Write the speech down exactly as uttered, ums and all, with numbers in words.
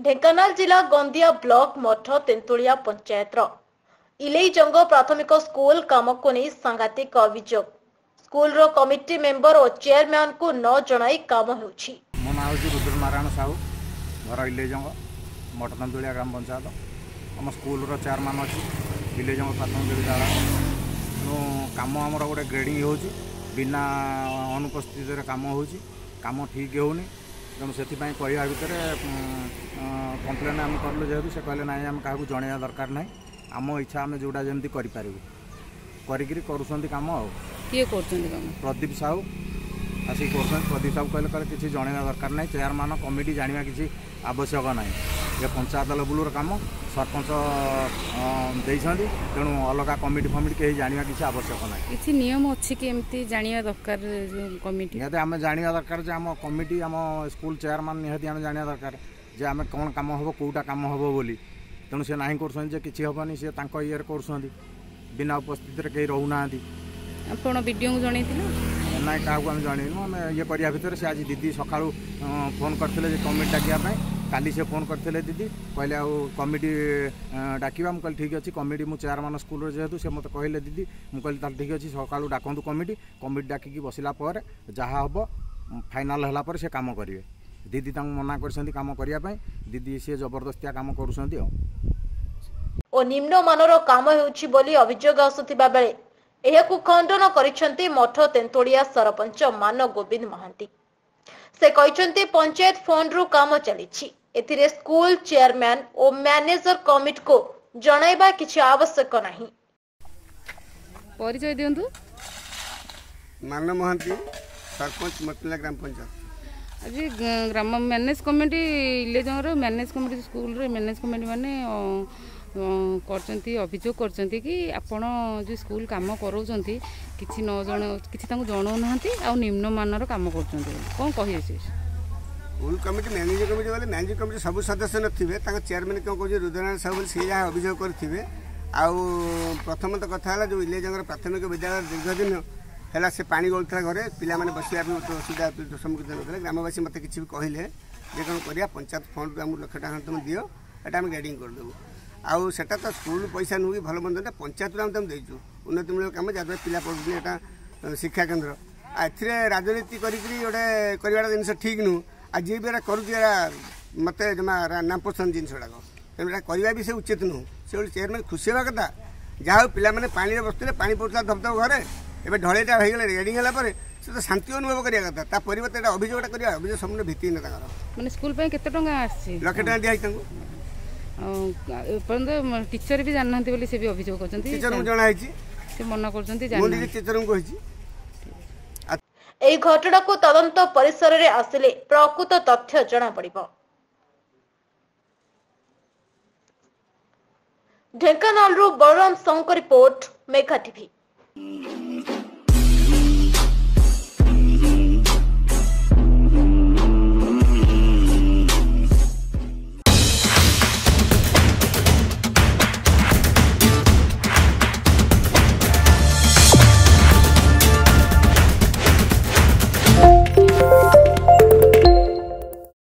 ଢେଙ୍କାନାଳ ଜିଲ୍ଲା ଗନ୍ଦିଆ ବ୍ଲକ ମଠ ତେନ୍ତୁଳିଆ ପଞ୍ଚାୟତର ଇଲେଇଜଙ୍ଗ ପ୍ରାଥମିକ ସ୍କୁଲ କାମକୁ ନେଇ ସାଂଘାତିକ ଅଭିଯୋଗ। ସ୍କୁଲର କମିଟି ମେମ୍ବର ଓ ଚେୟାରମ୍ୟାନଙ୍କୁ ନ ଜଣାଇ କାମ ହେଉଛି। ମୋ ନାଁ ହେଉଛି ରୁଦ୍ର ନାରାୟଣ ସାହୁ, ଘର ଇଲେଇଜଙ୍ଗ, ମଠ ତେନ୍ତୁଳିଆ ଗ୍ରାମ ପଞ୍ଚାୟତ। ଆମ ସ୍କୁଲର ଚେୟାରମ୍ୟାନ୍ ଅଛି ଇଲେଇଜଙ୍ଗ ପ୍ରାଥମିକ ବିଦ୍ୟାଳୟ। ତେଣୁ କାମ ଆମର ଗୋଟେ ଗ୍ରେଡ଼ିଂ ହେଉଛି, ବିନା ଅନୁପସ୍ଥିତିରେ କାମ ହେଉଛି, କାମ ଠିକ୍ ହେଉନି। ତେଣୁ ସେଥିପାଇଁ କହିବା ଭିତରେ କମ୍ପ୍ଲେନ୍ ଆମେ କଲୁ, ଯେହେତୁ ସେ କହିଲେ ନାଇଁ ଆମେ କାହାକୁ ଜଣାଇବା ଦରକାର ନାହିଁ, ଆମ ଇଚ୍ଛା ଆମେ ଯେଉଁଟା ଯେମିତି କରିପାରିବୁ, କରିକିରି କରୁଛନ୍ତି କାମ। ଆଉ କିଏ କରୁଛନ୍ତି କାମ? ପ୍ରଦୀପ ସାହୁ ଆସିକି କରୁଛନ୍ତି। ପ୍ରଦୀପ ସାହୁ କହିଲେ କହିଲେ କିଛି ଜଣାଇବା ଦରକାର ନାହିଁ, ଚେୟାରମ୍ୟାନ୍ କମିଟି ଜାଣିବା କିଛି ଆବଶ୍ୟକ ନାହିଁ, ଏ ପଞ୍ଚାୟତ ଲେବୁଲର କାମ, ସରପଞ୍ଚ ଦେଇଛନ୍ତି, ତେଣୁ ଅଲଗା କମିଟି ଫମିଟି କେହି ଜାଣିବା କିଛି ଆବଶ୍ୟକ ନାହିଁ। କିଛି ନିୟମ ଅଛି କି ଏମିତି ଜାଣିବା ଦରକାର କମିଟି? ନିହାତି ଆମେ ଜାଣିବା ଦରକାର ଯେ ଆମ କମିଟି, ଆମ ସ୍କୁଲ ଚେୟାରମ୍ୟାନ୍ ନିହାତି ଆମେ ଜାଣିବା ଦରକାର ଯେ ଆମେ କ'ଣ କାମ ହେବ, କେଉଁଟା କାମ ହେବ ବୋଲି। ତେଣୁ ସେ ନାହିଁ କରୁଛନ୍ତି ଯେ କିଛି ହେବନି, ସେ ତାଙ୍କ ଇଏରେ କରୁଛନ୍ତି, ବିନା ଉପସ୍ଥିତିରେ କେହି ରହୁନାହାନ୍ତି। ଆପଣ ବିଡ଼ିଓଙ୍କୁ ଜଣେଇଥିଲେ? ନାଇଁ, କାହାକୁ ଆମେ ଜଣେଇନୁ। ଆମେ ଇଏ କରିବା ଭିତରେ ସେ ଆଜି ଦିଦି ସକାଳୁ ଫୋନ୍ କରିଥିଲେ ଯେ କମିଟି ଡାକିବା ପାଇଁ। କାଲି ସେ ଫୋନ୍ କରିଥିଲେ ଦିଦି, କହିଲେ ଆଉ କମିଟି ଡାକିବା। ମୁଁ କହିଲି ଠିକ୍ ଅଛି କମିଟି, ମୁଁ ଚେୟାରମ୍ୟାନ୍ ସ୍କୁଲର ଯେହେତୁ, ସେ ମୋତେ କହିଲେ ଦିଦି, ମୁଁ କହିଲି ତାହେଲେ ଠିକ୍ ଅଛି ସକାଳୁ ଡାକନ୍ତୁ କମିଟି। କମିଟି ଡାକିକି ବସିଲା ପରେ ଯାହା ହେବ ଫାଇନାଲ୍ ହେଲା ପରେ ସେ କାମ କରିବେ। ଦିଦି ତାଙ୍କୁ ମନା କରିଛନ୍ତି କାମ କରିବା ପାଇଁ, ଦିଦି ସିଏ ଜବରଦସ୍ତିଆ କାମ କରୁଛନ୍ତି। ଆଉ ଓ ନିମ୍ନମାନର କାମ ହେଉଛି ବୋଲି ଅଭିଯୋଗ ଆସୁଥିବା ବେଳେ ଏହାକୁ ଖଣ୍ଡନ କରିଛନ୍ତି ମଠ ତେନ୍ତୁଳିଆ ସରପଞ୍ଚ ମାନ ଗୋବିନ୍ଦ ମହାନ୍ତି। ସେ କହିଛନ୍ତି ପଞ୍ଚାୟତ ଫଣ୍ଡରୁ କାମ ଚାଲିଛି, ଏଥିରେ ସ୍କୁଲ ଚେୟାରମ୍ୟାନ ଓ ମ୍ୟାନେଜର କମିଟିକୁ ଜଣାଇବା କିଛି ଆବଶ୍ୟକ ନାହିଁ। ପରିଚୟ ଦିଅନ୍ତୁ। ମାନ ମହାନ୍ତି, ସରପଞ୍ଚ, ମତଲା ଗ୍ରାମ ପଞ୍ଚାୟତ। ଆଜି ଗ୍ରାମ ମ୍ୟାନେଜ କମିଟି, ଇଲେଜଙ୍ଗର ମ୍ୟାନେଜ କମିଟି, ସ୍କୁଲର ମ୍ୟାନେଜ କମିଟି ମାନେ କରିଛନ୍ତି, ଅଭିଯୋଗ କରିଛନ୍ତି କି ଆପଣ ଯେଉଁ ସ୍କୁଲ କାମ କରାଉଛନ୍ତି କିଛି ନ ଜଣ କିଛି ତାଙ୍କୁ ଜଣାଉନାହାନ୍ତି ଆଉ ନିମ୍ନମାନର କାମ କରୁଛନ୍ତି, କ'ଣ କହିବେ ସେ? ସ୍କୁଲ କମିଟି ମ୍ୟାନେଜିଂ କମିଟି ବୋଲେ ମ୍ୟାନେଜିଂ କମିଟି ସବୁ ସଦସ୍ୟ ନଥିବେ, ତାଙ୍କ ଚେୟାରମ୍ୟାନ୍ କ'ଣ କହୁଛି ରୁଦ୍ରନାରାୟଣ ସାହୁ ବୋଲି, ସେ ଯାହା ଅଭିଯୋଗ କରିଥିବେ। ଆଉ ପ୍ରଥମତଃ କଥା ହେଲା ଯେଉଁ ଇଲେଜଙ୍ଗର ପ୍ରାଥମିକ ବିଦ୍ୟାଳୟ ଦୀର୍ଘ ଦିନ ହେଲା ସେ ପାଣି ଗଳୁଥିଲା ଘରେ, ପିଲାମାନେ ବସିବା ପାଇଁ ଅସୁବିଧା ସମ୍ମୁଖୀନ ହେଉଥିଲେ। ଗ୍ରାମବାସୀ ମୋତେ କିଛି ବି କହିଲେ ଯେ କ'ଣ କରିବା, ପଞ୍ଚାୟତ ଫଣ୍ଡରୁ ଆମକୁ ଲକ୍ଷ ଟଙ୍କା ତୁମେ ଦିଅ, ଏଇଟା ଆମେ ଗ୍ରେଡ଼ିଂ କରିଦେବୁ। ଆଉ ସେଟା ତ ସ୍କୁଲ ପଇସା ନୁହେଁ କି ଭଲ ମନ୍ଦ, ପଞ୍ଚାୟତରୁ ଆମେ ତାଙ୍କୁ ଦେଇଛୁ ଉନ୍ନତିମୂଳକ କାମ, ଯାହାଦ୍ୱାରା ପିଲା ପଢ଼ୁଛନ୍ତି, ଏଇଟା ଶିକ୍ଷା କେନ୍ଦ୍ର। ଆଉ ଏଥିରେ ରାଜନୀତି କରିକିରି ଗୋଟେ କରିବାଟା ଜିନିଷ ଠିକ୍ ନୁହଁ। ଆଉ ଯିଏ ବି ଏଟା କରୁଛି ଏଟା ମୋତେ ଜମା ନାପସନ୍ଦ ଜିନିଷ ଗୁଡ଼ାକ, ତେଣୁ ଏଟା କରିବା ବି ସେ ଉଚିତ ନୁହଁ। ସେ ଗୋଟେ ଚେୟାରମ୍ୟାନ୍ ଖୁସି ହେବା କଥା, ଯାହା ହଉ ପିଲାମାନେ ପାଣିରେ ବସୁଥିଲେ, ପାଣି ପଡ଼ୁଥିଲା ଧବଧବ ଘରେ, ଏବେ ଢଳେଇଟା ହେଇଗଲେ ରେଡ଼ିଂ ହେଲା ପରେ ସେ ତ ଶାନ୍ତି ଅନୁଭବ କରିବା କଥା। ତା ପରିବର୍ତ୍ତେ ଏଟା ଅଭିଯୋଗଟା କରିବା, ଅଭିଯୋଗ ସମ୍ପୂର୍ଣ୍ଣ ଭିତ୍ତିହୀନ ତାଙ୍କର। ମାନେ ସ୍କୁଲ ପାଇଁ କେତେ ଟଙ୍କା ଆସିଛି? ଲକ୍ଷେ ଟଙ୍କା ଦିଆହେଇଛି ତାଙ୍କୁ। ଏପର୍ଯ୍ୟନ୍ତ ଟିଚର ବି ଜାଣିନାହାନ୍ତି ବୋଲି ସେ ବି ଅଭିଯୋଗ କରୁଛନ୍ତି। ଟିଚରଙ୍କୁ ଜଣା ହେଇଛି, ସେ ମନା କରୁଛନ୍ତି। ମୁଁ ନିଜେ ଟିଚରଙ୍କୁ କହିଛି। ଏହି ଘଟଣାକୁ ତଦନ୍ତ ପରିସରରେ ଆସିଲେ ପ୍ରକୃତ ତଥ୍ୟ ଜଣାପଡ଼ିବ। ଢେଙ୍କାନାଳରୁ ବଳରାମ ସାହୁଙ୍କ ରିପୋର୍ଟ, ମେଘା ଟିଭି।